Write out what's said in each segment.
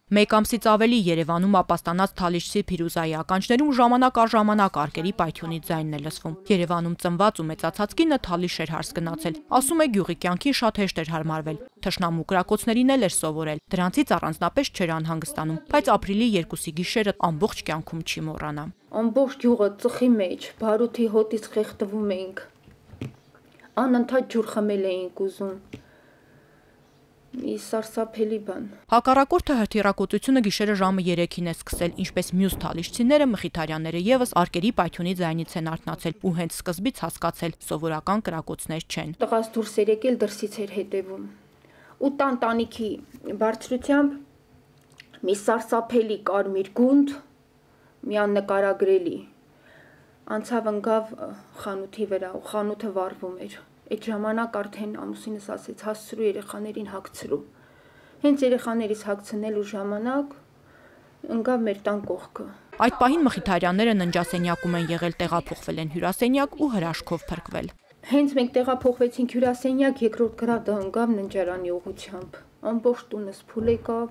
Մեկ ամսից ավելի Երևանում ապաստանած Թալիշցի Փիրուզայի ականջներում ժամանակ առ ժամանակ արկերի պայթյունի ձայնն է լսվում։ Երևանում ծնված ու մեծացած կինը Թալիշ էր հարս գնացել, ասում է գյուղի կյանքին շատ հեշտ էր հարմարվել։ Թշնամու կրակոցներին էլ էր սովորել, դրանցից առանձնապես չէր անհանգստանում, բայց ապրիլի 2-ի գիշերը ամբողջ կյանքում չի մոռանա։ Ամբողջ գյուղը ծխի մեջ, բարութի հոտից խեղդվում էինք, անընդհատ ջուր խմել էինք ուզում։ Մի սարսափելի բան։ Հակառակորդը հրթիռակոծությունը գիշերը ժամը 3-ին է սկսել, ինչպես մյուս թալիշցիները, մխիթարյանները եւս արկերի պայթյունի ձայնից են արթնացել ու հենց սկզբից հասկացել՝ սովորական կրակոցներ չեն։ Տղաս դուրս էր եկել, դրսից էր հետևում։ Ու տանտանիքի բարձրությամբ մի սարսափելի կարմիր գունդ, մի աննկարագրելի։ Անցավ ընկավ խանութի վրա ու խանութը վառվում էր։ Այդ ժամանակ արդեն ամուսինս ասեց հասցրու երեխաներին հագցրու։ Հենց երեխաներից հագցնելու ժամանակ ընկավ մեր տան կողքը։ Այդ պահին մխիթարյանները ննջասենյակում են եղել, տեղափոխվել են հյուրասենյակ ու հրաշքով փրկվել։ Հենց մենք տեղափոխվեցինք հյուրասենյակ, երկրորդ գրադը ընկավ ննջարանի ուղղությամբ։ Ամբողջ տունս փուլ եկավ,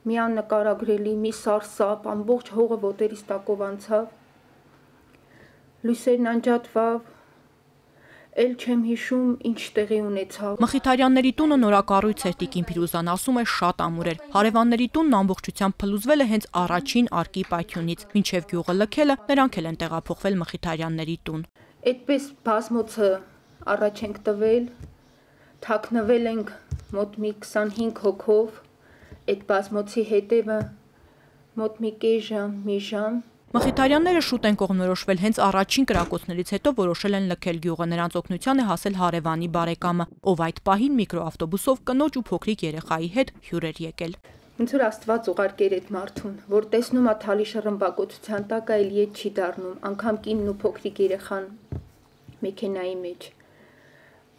մի աննկարագրելի, մի սարսափ, ամբողջ հողը ոտերից տակով անցավ։ Լույսերն անջատվավ։ Էլ չեմ հիշում ինչ տեղի ունեցավ։ Մխիթարյանների տունը նորակառույց էր, տիկին Փիրուզան ասում է շատ ամուր էր։ Հարևանների տունն ամբողջությամբ փլուզվել է հենց առաջին արկի պայթյունից։ Մինչև գյուղը լքելը նրանք էլ են տեղափոխվել Մխիթարյանների տուն։ Այդպես բազմոցը առաջ ենք տվել, թաքնվել ենք մոտ մի 25 հոգով, այդ բազմոցի հետևը մոտ մի կես ժամ, մի ժամ։ Մխիթարյանները շուտ են կողմնորոշվել, հենց առաջին կրակոցներից հետո որոշել են լքել գյուղը, նրանց օգնության է հասել հարևանի բարեկամը, ով այդ պահին միկրոավտոբուսով կնոջ ու փոքրիկ երեխայի հետ հյուր էր եկել։ Ոնց որ Աստված ուղարկեր այդ մարդուն, որ տեսնում է Թալիշը ռմբակոծության տակ այլ ետ չի դառնում, անգամ կինն ու փոքրիկ երեխան մեքենայի մեջ։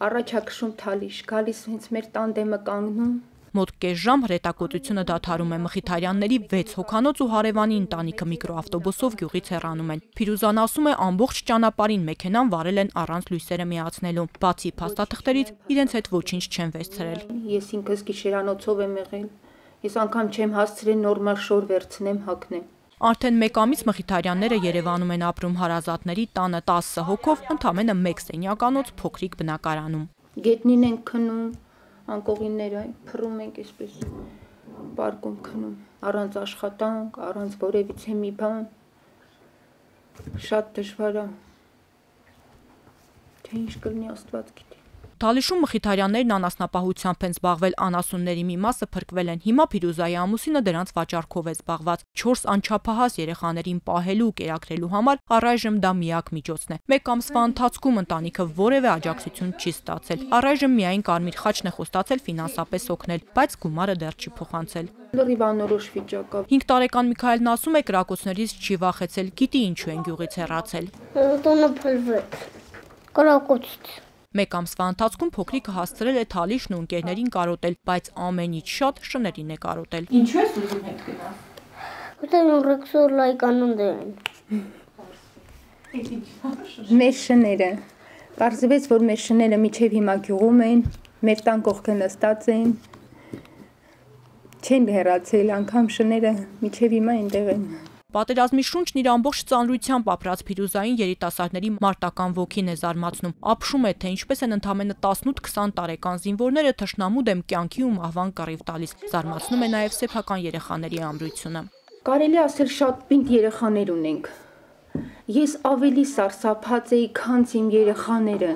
Առաջ է քշում Թալիշ, գալիս հենց մեր տանդեմը կանգնում։ Մոտ կես ժամ հրետակոծությունը դադարում է, Մխիթարյանների 6 հոգանոց ու հարևանի ընտանիքը միկրոավտոբուսով գյուղից հեռանում են։ Փիրուզան ասում է ամբողջ ճանապարհին մեքենան վարել են առանց լույսերը միացնելու։ Բացի փաստաթղթերից իրենց հետ ոչինչ չեն վերցրել։ Ես ինքս գիշերանոցով եմ եղել։ Ես անգամ չեմ հասցրել նորմալ շոր վերցնեմ, հագնեմ։ Արդեն մեկ ամիս Մխիթարյանները Երևանում են ապրում հարազատների տանը 10 հոգով, ընդամենը 1 սենյականոց փոքրիկ բնակարանում։ Գետնին ենք քնում, անկողինները փռում ենք այսպես պարկում քնում, առանց աշխատանք, առանց որևիցե մի բան։ Շատ դժվար է։ Թե ինչ կլինի Աստված գիտի։ Թալիշում Մխիթարյաններն անասնապահությամբ են զբաղվել, անասունների մի մասը փրկվել են։ Հիմա Փիրուզայի ամուսինը դրանց վաճառքով է զբաղված։ 4 անչափահաս երեխաներին պահելու ու կերակրելու համար առայժմ դա միակ միջոցն է։ Մեկ ամսվա ընթացքում ընտանիքը որևէ աջակցություն չի ստացել։ Առայժմ միայն Կարմիր խաչն է խոստացել ֆինանսապես օգնել, բայց գումարը դեռ չի փոխանցել։ Լրիվ անորոշ վիճակ է։ 5 տարեկան Միքայելն ասում է կրակոցներից չի վախեցել, գիտի ինչու են գյուղից հեռացել։ Տունը փլվեց։ Կրակոցից։ Մեկ ամսվա ընթացքում փոքրիկը հասցրել է Թալիշն ու ընկերներին կարոտել, բայց ամենից շատ շներին է կարոտել։ Ինչու ես ուզում հետ գնալ։ Որտեղ ռեքսոր լայկանուն դեն։ Մեր շները։ Պարզվեց, որ մեր շները միջև հիմա գյուղում են, մեր տան կողքը նստած են։ Չեն հեռացել, անգամ շները միջև հիմա այնտեղ են։ Պատերազմի շունչն իր ամբողջ ծանրությամբ ապրած Փիրուզային երիտասարդների մարտական ոգին է զարմացնում։ Ապշում է, թե ինչպես են ընդամենը 18-20 տարեկան զինվորները թշնամու դեմ կյանքի ու մահվան կռիվ տալիս։ Զարմացնում է նաև սեփական երեխաների ամրությունը։ Կարելի ասել շատ պինդ երեխաներ ունենք։ Ես ավելի սարսափած էի, քան իմ երեխաները։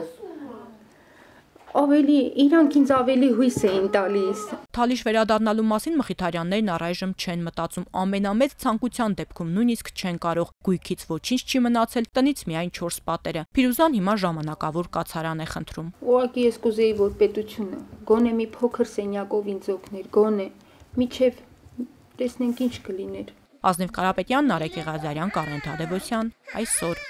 Ավելի իրանք ինձ ավելի հույս էին տալիս։ Թալիշ վերադառնալու մասին Մխիթարյաններն առայժմ չեն մտածում։ Ամենամեծ ցանկության դեպքում նույնիսկ չեն կարող։ Գույքից ոչինչ չի մնացել, տնից միայն 4 պատերը։ Փիրուզան հիմա ժամանակավոր կացարան է խնդրում։ Ուղղակի ես կուզեի, որ պետությունը գոնե մի փոքր սենյակով ինձ օգներ, գոնե միջև տեսնենք ինչ կլիներ։ Ազնիվ Կարապետյան, Նարեկ Եղազարյան, Կարեն Թադևոսյան, այսօր։